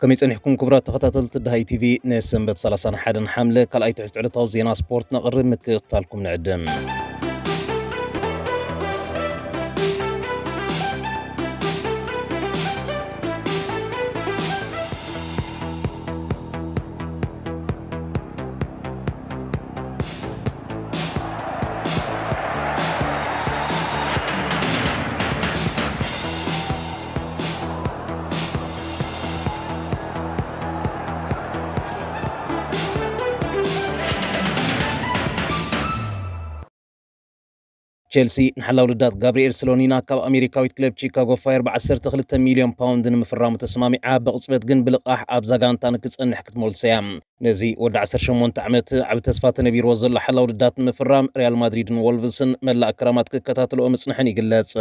ከመይ ጸኒሕኩም ክቡራት ተኸታተልቲ ደሃይ ቲቪ? ንሰንበት ሰላሳን ሓደን ሓምለ ካልኣይ ትሕዝቶ ዕለታዊ ዜና ስፖርት ነቕርብ፣ ምክትታልኩም ንዕድም። ቸልሲ ንሓላው ልዳት ጋብሪኤል ስሎኒና ካብ ኣሜሪካዊት ክለብ ቺካጎ ፋየር ብ ዓሰርተ ክልተ ሚልዮን ፓውንድ ንምፍራሙ ተስማሚዓ፣ ብቕጽበት ግን ብልቓሕ ኣብዛ ጋንታ ንክጸንሕ ክትመልሶ እያ። ነዚ ወዲ ዓሰርተ ሸሞንተ ዓመት ዓቢ ተስፋ ተነቢርዎ ዘሎ ሓላው ልዳት ንምፍራም ሪያል ማድሪድን ወልቭስን መላእ ክራማት ክከታተልኦ ምጽንሐን ይግለጽ።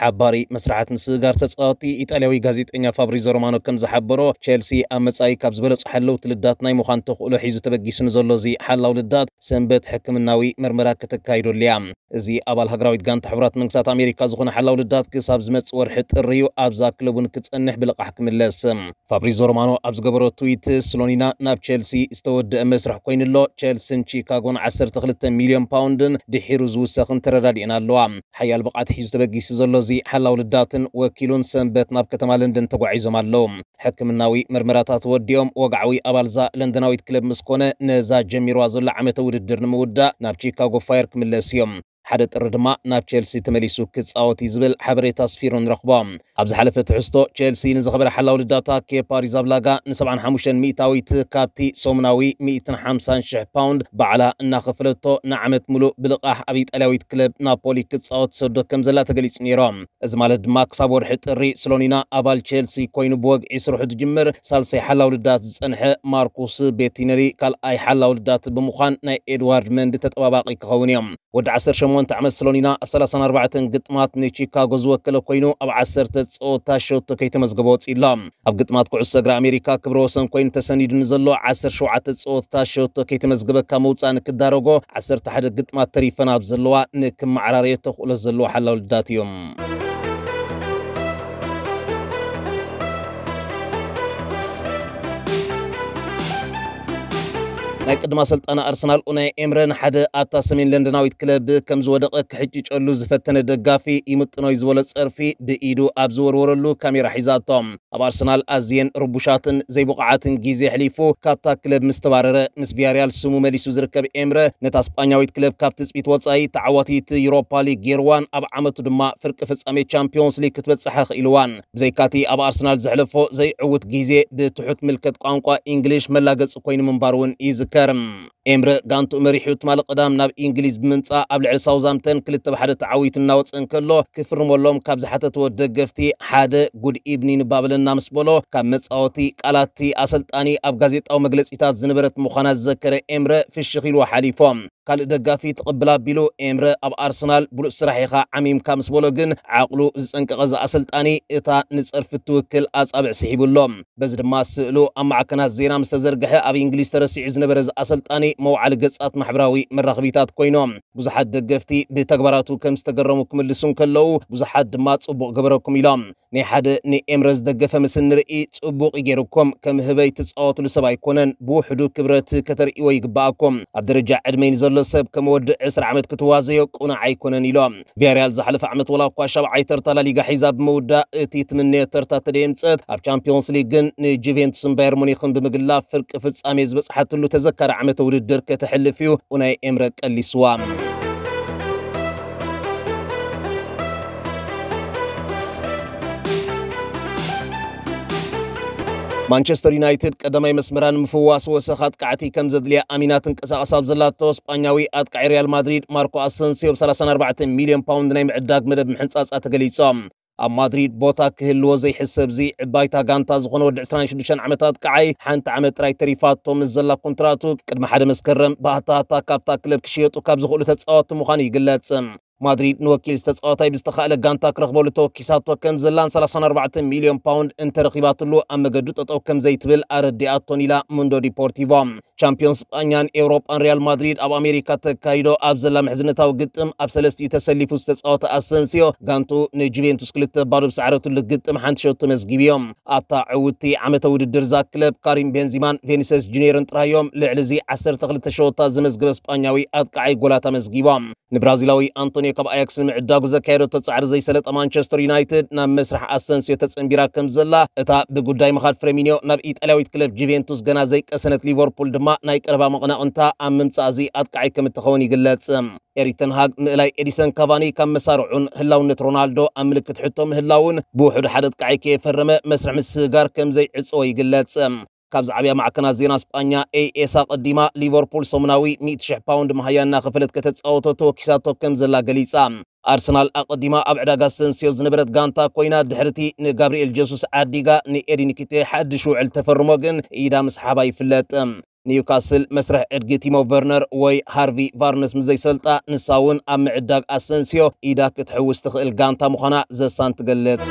ሓባሪ መስራሓት ምስግጋር ተጻወቲ ኢጣልያዊ ጋዜጠኛ ፋብሪዞ ሮማኖ ከም ዝሓበሮ፣ ቸልሲ ኣብ መጻኢ ካብ ዝበለጹ ሓለውቲ ልዳት ናይ ምዃን ተኽእሎ ሒዙ ተበጊሱ ንዘሎ እዚ ሓላው ልዳት ሰንበት ሕክምናዊ መርመራ ከተካይደሉ እያ። እዚ ኣባል ሃገራዊት ጋንታ ሕቡራት መንግስታት ኣሜሪካ ዝኾነ ሓላው ልዳት ክሳብ ዝመጽእ ወርሒ ጥሪ እዩ ኣብዛ ክለቡ ንክጸንሕ ብልቓሕ ክምለስ። ፋብሪዞ ሮማኖ ኣብ ዝገበሮ ትዊት፣ ስሎኒና ናብ ቸልሲ ዝተወደአ መስርሕ ኮይኑ ኣሎ። ቸልሲን ቺካጎን ዓሰርተ ክልተ ሚልዮን ፓውንድን ድሒሩ ዝውሰኽን ተረዳዲኤን ኣለዋ። ሓያል ብቕዓት ሒዙ ተበጊሱ ዘሎ እዚ ሓላው ልዳትን ወኪሉን ሰንበት ናብ ከተማ ለንደን ተጓዒዞም ኣለዉ። ሕክምናዊ መርመራታት ወዲኦም ወግዓዊ ኣባልዛ ለንደናዊት ክለብ ምስ ኮነ፣ ነዛ ጀሚርዋ ዘሎ ዓመተ ውድድር ንምውዳእ ናብ ቺካጎ ፋየር ክምለስ እዮም። ሓደ ጥሪ ድማ ናብ ቸልሲ ተመሊሱ ክጻወት እዩ ዝብል ሓበሬታ ኣስፊሩ ንረኽቦ። ኣብ ዝሓለፈ ትሕዝቶ፣ ቸልሲ ንዝኸበረ ሓላው ልዳታ ኬፓ ሪዛብላጋ ን75 ሚእታዊት ካብቲ ሰሙናዊ ሚእትን ሓምሳን ሽሕ ፓውንድ ባዕላ እናኸፈለቶ ንዓመት ሙሉእ ብልቓሕ ኣብ ኢጣልያዊት ክለብ ናፖሊ ክጻወት ሰዶ ከም ዘላ ተገሊጹ ነይሩ። እዚ ማለት ድማ ክሳብ ወርሒ ጥሪ ስሎኒና ኣባል ቸልሲ ኮይኑ ብወግዒ ስርሑ ዝጅምር ሳልሳይ ሓላው ልዳት ዝጸንሐ ማርኩስ ቤቲነሊ ካልኣይ ሓላው ልዳት ብምዃን ናይ ኤድዋርድ መንዲ ተጠባባቒ ክኸውን እዮም። ወዲ ዓሰርተ ሸሞንተ ዓመት ስሎኒና ኣብ ሰላሳን ኣርባዕተን ግጥማት ንቺካጎ ዝወከለ ኮይኑ ኣብ ዓሰርተ ጸወታ ሸቶ ከይተመዝገበ ወጺኡ ኣሎ። ኣብ ግጥማት ኩዕሶ እግሪ ኣሜሪካ ክብረ ወሰን ኮይኑ ተሰኒዱ ንዘሎ ዓሰርተ ሸውዓተ ጸወታ ሸቶ ከይተመዝገበ ካብ ምውጻእ ንክዳረጎ ዓሰርተ ሓደ ግጥማት ተሪፈን ኣብ ዘለዋ ንክመዓራረዮ ተኽእሎ ዘለዎ ሓላው ልዳት እዩ። ናይ ቅድማ ሰልጣን ኣርሰናል ኡናይ ኤምረ ንሓደ ኣብታ ሰሜን ለንደናዊት ክለብ ከም ዝወደቐ ክሕጭጨሉ ዝፈተነ ደጋፊ ይምጥኖይ ዝበሎ ጸርፊ ብኢዱ ኣብ ዝወርወረሉ ካሜራ ሒዛቶ። ኣብ ኣርሰናል ኣዝየን ርቡሻትን ዘይብቑዓትን ግዜ ኣሕሊፉ ካብታ ክለብ ምስ ተባረረ፣ ምስ ቪያሪያል ስሙ መሊሱ ዝርከብ ኤምረ፣ ነታ ስጳኛዊት ክለብ ካብ ትጽቢት ወጻኢ ተዓዋቲት ዩሮፓ ሊግ ጌርዋን ኣብ ዓመቱ ድማ ፍርቂ ፍጻሜ ቻምፒዮንስ ሊግ ክትበጽሕ ኣኽኢልዋን። ብዘይካቲ ኣብ ኣርሰናል ዘሕለፎ ዘይዕውት ግዜ ብትሑት ምልከት ቋንቋ ኢንግሊሽ መላገጺ ኮይኑ ምንባሩ እውን ይዝከር። ኤምረ ጋንትኡ መሪሑ ትማሊ ቀዳም ናብ ኢንግሊዝ ብምምጻእ ኣብ ልዕሊ ሳውዝሃምተን ክልተ ብ ሓደ ተዓዊቱ እናወጸ እንከሎ፣ ክፍርመሎም ካብ ዝሓተትዎ ደገፍቲ ሓደ ጉድ ኢቭኒን እባ በለና ምስ በሎ፣ ካብ መጻወቲ ቃላትቲ ኣሰልጣኒ ኣብ ጋዜጣዊ መግለጺታት ዝነበረት ምዃና ዝዘከረ ኤምረ ፍሽኽ ኢልዎ ሓሊፎ። ካልእ ደጋፊ ትቕብል ኣቢሉ ኤምረ ኣብ ኣርሰናል ብሉጽ ስራሕ ኢኻ ዓሚምካ ምስ በሎ ግን ዓቕሉ ዝጸንቀቐ እዚ ኣሰልጣኒ እታ ንጸርፊ እትውክል ኣጻብዕ ስሒቡ ኣሎ። በዚ ድማ ስእሉ ኣብ ማዕከናት ዜና ምስ ተዘርግሐ ኣብ እንግሊዝ ተረሲዑ ዝነበረ እዚ ኣሰልጣኒ መውዓሊ ገጻት ማሕበራዊ መራኸቢታት ኮይኖም። ብዙሓት ደገፍቲ ብተግባራቱ ከም ዝተገረሙ ክምልሱ እንከለዉ፣ ብዙሓት ድማ ጽቡቕ ገበረኩም ኢሎም። ናይ ሓደ ንኤምረ ዝደገፈ ምስ እንርኢ ጽቡቕ እዩ ገይሩኩም፣ ከም ህበይ ትጻወትሉ ሰብ ኣይኮነን፣ ብውሕዱ ክብረት ከተርእይዎ ይግብኣኩም። ኣብ ደረጃ ዕድመይ ንዘሎ ሰብ ከም ወዲ ዕስራ ዓመት ክትዋዘዮ ቅኑዕ ኣይኮነን ኢሎም። ቪያሪያል ዝሓለፈ ዓመት ወላ እኳ ሻብዓይ ተርታ ላሊጋ ሒዛ ብምውዳእ እቲ ትምነዮ ተርታ ተደየምጸት፣ ኣብ ቻምፒዮንስ ሊግ ግን ንጁቬንቱስን ባየር ሙኒኽን ብምግላፍ ፍርቂ ፍጻሜ ዝበጽሓትሉ ተዘካሪ ዓመተ ውድድር ከተሕልፍ እዩ ኡናይ ኤምረ ቀሊስዋ። ማንቸስተር ዩናይትድ ቀዳማይ መስመራ ንምፍዋስ ወሰኽ ኣጥቃዕቲ ከም ዘድልያ ኣሚና ትንቀሳቐስ ኣብ ዘላቶ፣ ስጳኛዊ ኣጥቃዒ ሪያል ማድሪድ ማርኮ ኣሰንሲዮ ብ ሰላሳን ኣርባዕተን ሚልዮን ፓውንድ ናይ ምዕዳግ መደብ ምሕንጻጻ ተገሊጾም። ኣብ ማድሪድ ቦታ ክህልዎ ዘይሕሰብ እዚ ዕባይታ ጋንታ ዝኾነ ወዲ ዕስራን ሽዱሽተን ዓመት ኣጥቃዓይ ሓንቲ ዓመት ጥራይ ተሪፋቶ ምስ ዘላ ኮንትራቱ ቅድሚ ሓደ መስከረም ብኣታታ ካብታ ክለብ ክሽየጡ ካብ ዝኽእሉ ተጻወትቲ ምዃኑ ይግለጽ። ማድሪድ ንወኪል ዝተጻወታይ ብዝተኻእለ ጋንታ ክረኽበሉ ተወኪሳቶ ከም ዘላን ሰላሳን ኣርባዕተ ሚልዮን ፓውንድ እንተረኺባትሉ ኣብ መገዱ ጠጠው ከም ዘይትብል ኣረዲኣቶን ኢላ ሙንዶ ዲፖርቲቮ። ቻምፒዮን ስጳኛን ኤውሮጳን ሪያል ማድሪድ ኣብ ኣሜሪካ ተካይዶ ኣብ ዘላ ምሕዝነታዊ ግጥም ኣብ ሰለስቲኡ ተሰሊፉ ዝተጻወተ ኣሰንሲዮ ጋንቱ ንጁቬንቱስ ክልተ ባዶ ብሰዓረትሉ ግጥም ሓንቲ ሸቶ መዝጊቡ እዮም። ኣብታ ዕውቲ ዓመተ ውድድር እዛ ክለብ ካሪም ቤንዚማን ቬኒሰስ ጁኒየርን ጥራይ እዮም ልዕሊ እዚ ዓሰርተ ክልተ ሸወታ ዘመዝገበ ስጳኛዊ ኣጥቃዓይ ጎላት ኣመዝጊቦም። ንብራዚላዊ ኣንቶኒዮ ካብ ኣያክስ ንምዕዳጉ ዘካየደቶ ጻዕሪ ዘይሰለጠ ማንቸስተር ዩናይትድ ናብ መስርሕ ኣሰንሲዮ ተጸንቢራ ከም ዘላ፣ እታ ብጉዳይ ምኻድ ፍሬሚኒዮ ናብ ኢጣልያዊት ክለብ ጁቬንቱስ ገና ዘይቀሰነት ሊቨርፑል ድማ ናይ ቀረባ መቐናቕንታ ኣብ ምምጻእ እዚ ኣጥቃዓይ ከም እትኸውን ይግለጽ። ኤሪክ ተን ሃግ ምእላይ ኤዲሰን ካቫኒ ካብ መሳርዑን ህላውነት ሮናልዶ ኣብ ምልክት ሕቶ ምህላውን ብውሑድ ሓደ ኣጥቃዓይ ከየፈረመ መስርሕ ምስግጋር ከም ዘይዕጸዎ ይግለጽ። ካብ ዝዓብያ ማዕከናት ዜና ስጳኛ ኤኤስ ኣቐዲማ ሊቨርፑል ሰሙናዊ ሚእቲ ሽሕ ፓውንድ መሃያ እናኸፈለት ከተጻወቶ ተወኪሳቶ ከም ዘላ ገሊጻ። ኣርሰናል ኣቐዲማ ኣብ ዕዳጋ ኣሰንሲዮ ዝነበረት ጋንታ ኮይና ድሕርቲ ንጋብሪኤል ጀሱስ ዓዲጋ ንኤዲ ንኪቴ ሓድሽ ውዕል ተፈርሞ ግን ኢዳ ምስሓባ ይፍለጥ። ኒውካስል መስርሕ ዕድጊ ቲሞ ቨርነር ወይ ሃርቪ ቫርነስ ምስ ዘይሰልጣ ንሳ እውን ኣብ ምዕዳግ ኣሰንሲዮ ኢዳ ክትሕውስ ትኽእል ጋንታ ምዃና ዘሳን ትገልጽ።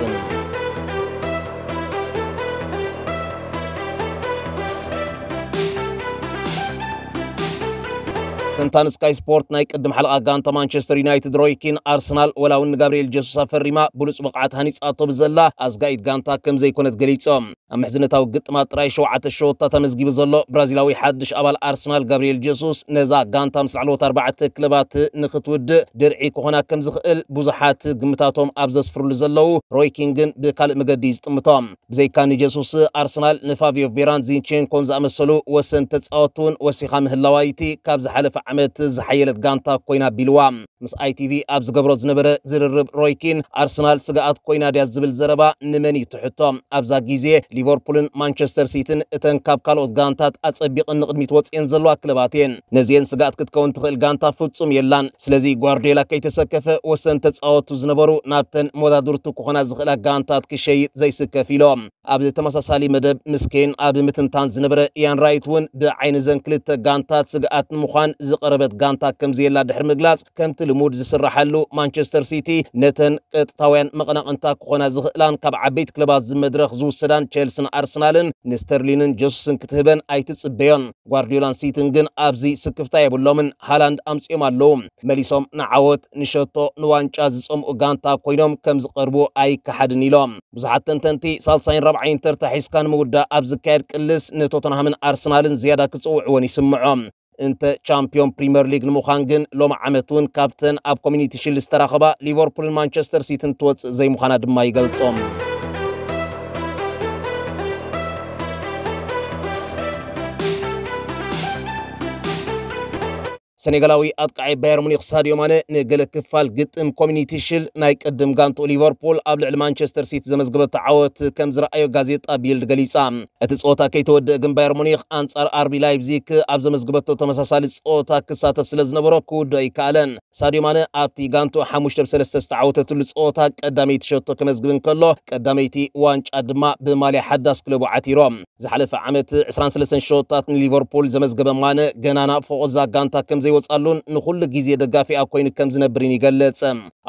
ተንታን ስካይ ስፖርት ናይ ቅድም ሓለቓ ጋንታ ማንቸስተር ዩናይትድ ሮይ ኪን ኣርሰናል ወላ እውን ንጋብርኤል ጀሱስ ኣፈሪማ ብሉጽ ብቕዓት ሃኒጻቶ ብዘላ ኣዝጋኢት ጋንታ ከም ዘይኮነት ገሊጾም። ኣብ ምሕዝነታዊ ግጥማት ጥራይ ሸውዓተ ሸወታት ኣመዝጊቡ ዘሎ ብራዚላዊ ሓድሽ ኣባል ኣርሰናል ጋብርኤል ጀሱስ ነዛ ጋንታ ምስ ላዕለዎት ኣርባዕተ ክለባት ንኽትውድእ ድርዒ ክኾና ከም ዝኽእል ብዙሓት ግምታቶም ኣብ ዘስፍርሉ ዘለዉ ሮይ ኪን ግን ብካልእ መገዲ እዩ ዝጥምቶ። ብዘይካ ንጀሱስ ኣርሰናል ንፋቪዮ ቬራን ዚንቼንኮን ዝኣመሰሉ ወሰን ተጻወትቲ እውን ወሲኻ ምህላዋ እቲ ካብ ዝሓለፈ ዓመት ዝሓየለት ጋንታ ኮይና ኣቢልዋ። ምስ ኣይቲቪ ኣብ ዝገብሮ ዝነበረ ዝርርብ ሮይ ኪን ኣርሰናል ስግኣት ኮይና ድያ ዝብል ዘረባ ንመን እዩ ትሕቶ? ኣብዛ ግዜ ሊቨርፑልን ማንቸስተር ሲቲን እተን ካብ ካልኦት ጋንታት ኣጸቢቕን ንቕድሚት ወጽኤን ዘለዋ ክለባት እየን። ነዚኤን ስግኣት ክትከውን ትኽእል ጋንታ ፍጹም የላን። ስለዚ ጓርዲዮላ ከይተሰከፈ ወሰን ተጻወቱ ዝነበሩ ናብተን መወዳድርቱ ክኾና ዝኽእላ ጋንታት ክሸይጥ ዘይስከፍ ኢሎም። ኣብ ተመሳሳሊ መደብ ምስ ኬን ኣብ ምትንታን ዝነበረ ኢያን ራይት እውን ብዓይኒ ዘን ክልተ ጋንታት ስግኣት ንምዃን ዝቐረበት ጋንታ ከም ዘየላ ድሕሪ ምግላጽ፣ ከምቲ ልሙድ ዝስራሓሉ ማንቸስተር ሲቲ ነተን ቀጥታውያን መቐናቕንታ ክኾና ዝኽእላን ካብ ዓበይቲ ክለባት ዝመድረኽ ዝውሰዳን ቸልስን ኣርሰናልን ንስተርሊንን ጀሱስን ክትህበን ኣይትጽበዮን። ጓርዲዮላን ሲቲን ግን ኣብዚ ስክፍታ የብሎምን። ሃላንድ ኣምጺኦም ኣለዉ። መሊሶም ንዓወት፣ ንሸቶ፣ ንዋንጫ ዝጸምኡ ጋንታ ኮይኖም ከም ዝቐርቡ ኣይከሓድን ኢሎም። ብዙሓት ተንተንቲ ሳልሳይን ራብዓይን ተርታ ሒዝካ ንምውዳእ ኣብ ዝካየድ ቅልስ ንቶተንሃምን ኣርሰናልን ዝያዳ ክጽውዕወን ይስምዖም። እንተ ቻምፒዮን ፕሪምየር ሊግ ንምዃን ግን ሎም ዓመት እውን ካብተን ኣብ ኮሚኒቲ ሽልድ ዝተራኸባ ሊቨርፑልን ማንቸስተር ሲቲን ትወጽእ ዘይምዃና ድማ ይገልጾም። ሰኔጋላዊ ኣጥቃዓይ ባየር ሙኒክ ሳድዮ ማነ ንገለ ክፋል ግጥም ኮሚኒቲ ሽል ናይ ቅድም ጋንቱ ሊቨርፑል ኣብ ልዕሊ ማንቸስተር ሲቲ ዘመዝገበቶ ዓወት ከም ዝረኣዮ ጋዜጣ ቢልድ ገሊጻ። እቲ ጸወታ ከይተወደአ ግን ባየር ሙኒክ ኣንጻር ኣርቢ ላይፕዚግ ኣብ ዘመዝገበቶ ተመሳሳሊ ጸወታ ክሳተፍ ስለ ዝነበሮ ክውድኦ ኣይከኣለን። ሳድዮ ማነ ኣብቲ ጋንቱ ሓሙሽተ ብ ሰለስተ ዝተዓወተትሉ ጸወታ ቀዳመይቲ ሸቶ ከመዝግብ እንከሎ ቀዳመይቲ ዋንጫ ድማ ብማልያ ሓዳስ ክለቡ ዓቲሮም። ዝሓለፈ ዓመት ዕስራን ሰለስተን ሸቶታት ንሊቨርፑል ዘመዝገበ ማነ ገና ናብ ፎቆዛ ጋንታ ከም ዘይወጻሉን ንኹሉ ግዜ ደጋፊኣ ኮይኑ ከም ዝነብርን ይገልጽ።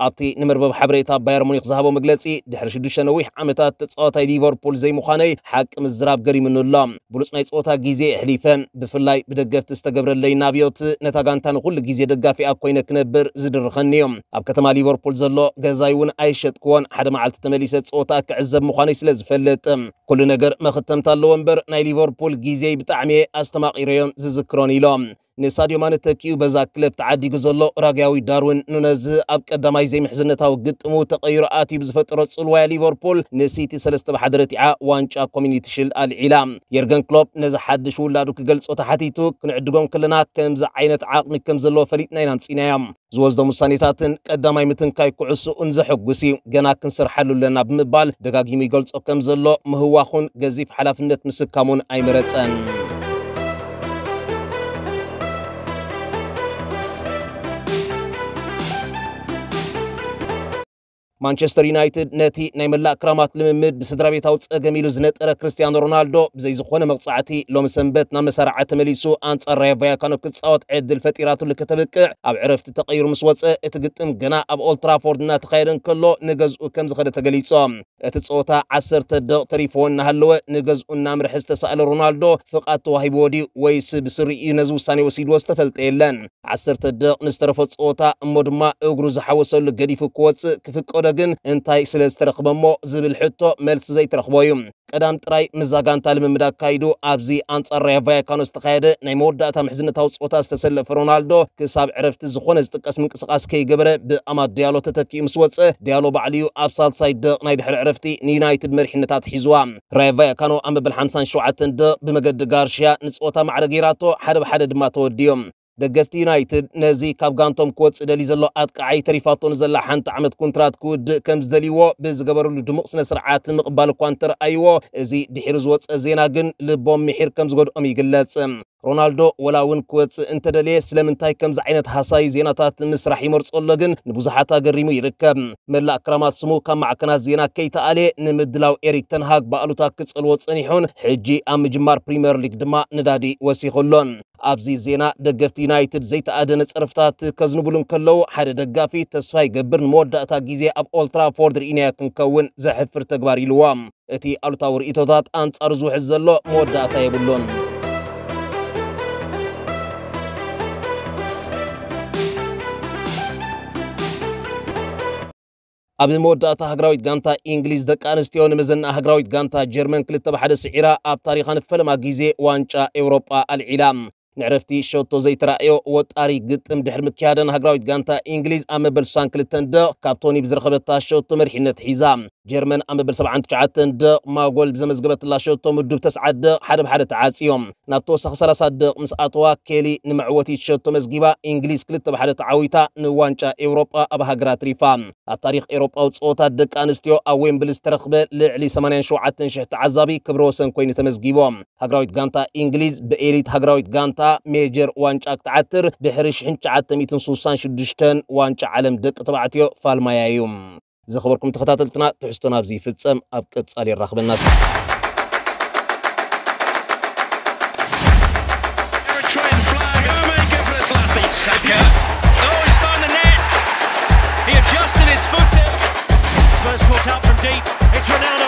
ኣብቲ ንመርበብ ሓበሬታ ባየር ሙኒክ ዝሃቦ መግለጺ ድሕሪ ሽዱሽተ ነዊሕ ዓመታት ተጻዋታይ ሊቨርፑል ዘይምዃነይ ሓቂ ምዝራብ ገሪምኒ ኣሎ። ብሉጽ ናይ ጸወታ ግዜ ኣሕሊፈ፣ ብፍላይ ብደገፍቲ ዝተገብረለይ ናብዮት ነታ ጋንታ ንኹሉ ግዜ ደጋፊኣ ኮይነ ክነብር ዝድርኸኒ እዩ። ኣብ ከተማ ሊቨርፑል ዘሎ ገዛይ እውን ኣይሸጥክዎን። ሓደ መዓልቲ ተመሊሰ ጸወታ ክዕዘብ ምዃነይ ስለ ዝፈልጥ። ኩሉ ነገር መኽተምታ ኣለዎ እምበር ናይ ሊቨርፑል ግዜይ ብጣዕሚ እየ ኣስተማቒረዮን ዝዝክሮን ኢሎም። ንሳድዮ ማነ ተኪኡ በዛ ክለብ ተዓዲጉ ዘሎ ኡራግያዊ ዳርዊን ኑነዝ ኣብ ቀዳማይ ዘይምሕዝነታዊ ግጥሙ ተቐይሩ ኣትዩ ብዝፈጠሮ ጽልዋያ ሊቨርፑል ንሲቲ ሰለስተ ብ ሓደ ረቲዓ ዋንጫ ኮሚኒቲ ሽልድ ኣልዒላ። የርገን ክሎፕ ነዚ ሓድሽ ውላዱ ክገልጾ ተሓቲቱ፣ ክንዕድጎም ከለና ከምዚ ዓይነት ዓቕሚ ከም ዘለዎ ፈሊጥና ኢና ኣምጺእናዮም። ዝወስዶም ውሳኔታትን ቀዳማይ ምትንካይ ኩዕሶኡን ዘሐጉስ እዩ። ገና ክንሰርሓሉ ኣለና ብምባል ደጋጊሙ ይገልጾ ከም ዘሎ ምህዋኹን ገዚፍ ሓላፍነት ምስካሙን ኣይመረጸን። ማንቸስተር ዩናይትድ ነቲ ናይ መላእ ክራማት ልምምድ ብስድራ ቤታዊ ጸገም ኢሉ ዝነጠረ ክርስቲያኖ ሮናልዶ ብዘይ ዝኾነ መቕጻዕቲ ሎሚ ሰንበት ናብ መሳርዓ ተመሊሱ ኣንጻር ራዮ ቫያካኖ ክጻወት ዕድል ፈጢራትሉ ከተብቅዕ ኣብ ዕረፍቲ ተቐይሩ ምስ ወጸ እቲ ግጥም ገና ኣብ ኦልትራፎርድ እናተኻየደ እንከሎ ንገዝኡ ከም ዝኸደ ተገሊጾ። እቲ ጸወታ ዓሰርተ ደቕ ተሪፍዎ እናሃለወ ንገዝኡ እናምርሐ ዝተሳእለ ሮናልዶ ፍቓድ ተዋሂብዎ ድዩ ወይስ ብስሪኡ ነዚ ውሳኔ ወሲድዎ ዝተፈልጠ የለን። ዓሰርተ ደቕ ንዝተረፎ ጸወታ እሞ ድማ እግሩ ዝሓወሰሉ ገዲፉ ክወጽእ ክፍቀዶ ግን እንታይ ስለ ዝተረኽበ እሞ ዝብል ሕቶ መልሲ ዘይተረኽቦ እዩ። ቀዳም ጥራይ ምስዛ ጋንታ ልምምድ ኣካይዱ ኣብዚ ኣንጻር ራዮ ቫያካኖ ዝተኻየደ ናይ መወዳእታ ምሕዝነታዊ ጸወታ ዝተሰለፈ ሮናልዶ ክሳብ ዕረፍቲ ዝኾነ ዝጥቀስ ምንቅስቓስ ከይገበረ ብኣማድ ዲያሎ ተተኪኡ ምስ ወጸ ዲያሎ ባዕሉ እዩ ኣብ ሳልሳይ ደቕ ናይ ድሕሪ ዕረፍቲ ንዩናይትድ መሪሕነት ኣትሒዝዋ። ራዮ ቫያካኖ ኣብ መበል ሓምሳን ሸውዓተን ደቕ ብመገዲ ጋርሽያ ንጸወታ ማዕረ ገይራቶ ሓደ ብሓደ ድማ ተወዲዮም። ደገፍቲ ዩናይትድ ነዚ ካብ ጋንቶም ክወጽእ ደልዩ ዘሎ ኣጥቃዓይ ተሪፋቶ ንዘላ ሓንቲ ዓመት ኩንትራት ክውድእ ከም ዝደልይዎ ብዝገበርሉ ድሙቕ ስነ ስርዓት ምቕባል እኳ እንተረኣይዎ፣ እዚ ድሒሩ ዝወጸ ዜና ግን ልቦም ምሒር ከም ዝጎድኦም ይግለጽ። ሮናልዶ ወላ እውን ክወጽእ እንተደለየ ስለምንታይ ከምዚ ዓይነት ሃሳይ ዜናታት ምስራሕ ይመርጾ ኣሎ ግን ንብዙሓት ኣገሪሙ ይርከብ። መላእ ክራማት ስሙ ካብ ማዕከናት ዜና ከይተኣልየ ንምድላው ኤሪክ ተንሃግ ብኣሉታ ክጸልዎ ጸኒሑን ሕጂ ኣብ ምጅማር ፕሪምየር ሊግ ድማ ነዳዲ ወሲኹ ኣሎን። ኣብዚ ዜና ደገፍቲ ዩናይትድ ዘይተኣደነ ጸርፍታት ከዝንቡሉ እንከለዉ ሓደ ደጋፊ ተስፋ ይገብር ንመወዳእታ ግዜ ኣብ ኦልትራፎርድ ርኢናዮ ክንከውን ዘሕፍር ተግባር ኢልዎ። እቲ ኣሉታዊ ርእይቶታት ኣንጻሩ ዝውሕዝ ዘሎ መወዳእታ የብሉን። ኣብ መወዳእታ ሃገራዊት ጋንታ እንግሊዝ ደቂ ኣንስትዮ ንመዘና ሃገራዊት ጋንታ ጀርመን ክልተ ብሓደ ስዒራ ኣብ ታሪኻ ንፈለማ ግዜ ዋንጫ ኤውሮጳ ኣልዒላ። ንዕረፍቲ ሸቶ ዘይተራእዮ ወጣሪ ግጥም ድሕሪ ምክያደን ሃገራዊት ጋንታ እንግሊዝ ኣብ መበል ስሳን ክልተን ደቕ ካብ ቶኒ ብዝረኸበታ ሸቶ መሪሕነት ሒዛ። ጀርመን ኣብ መበል ሰብዓን ትሽዓተን ደቕ ማጎል ብዘመዝገበትላ ሸቶ ምዱብ ተስዓት ደቕ ሓደ ብሓደ ተዓጽዮም። ናብ ተወሳኺ ሰላሳ ደቕ ምስ ኣተዋ ኬሊ ንመዕወቲት ሸቶ መዝጊባ እንግሊዝ ክልተ ብሓደ ተዓዊታ ንዋንጫ ኤውሮጳ ኣብ ሃገራ ኣትሪፋ። ኣብ ታሪኽ ኤውሮጳዊ ጸወታት ደቂ ኣንስትዮ ኣብ ዌምብሊ ዝተረኽበ ልዕሊ ሰማንያን ሸውዓተን ሽሕ ተዓዛቢ ክብረ ወሰን ኮይኑ ተመዝጊቦ። ሃገራዊት ጋንታ እንግሊዝ ብኤሊት ሃገራዊት ጋንታ ሜጀር ዋንጫ ክትዓትር ድሕሪ ሽሕን ትሽዓተ ሚእትን ስሳን ሽዱሽተን ዋንጫ ዓለም ደቂ ተባዕትዮ ፋልማያ እዩ። ዝኸበርኩም ተኸታተልትና ትሕዝቶና ኣብዚ ይፍጸም። ኣብ ቀጻሊ የራኽበና። Eritrean flag. German Gebrselassie. Saka. Oh, he's found the net. He adjusted his foot. Spurs caught out from deep. It's Ronaldo.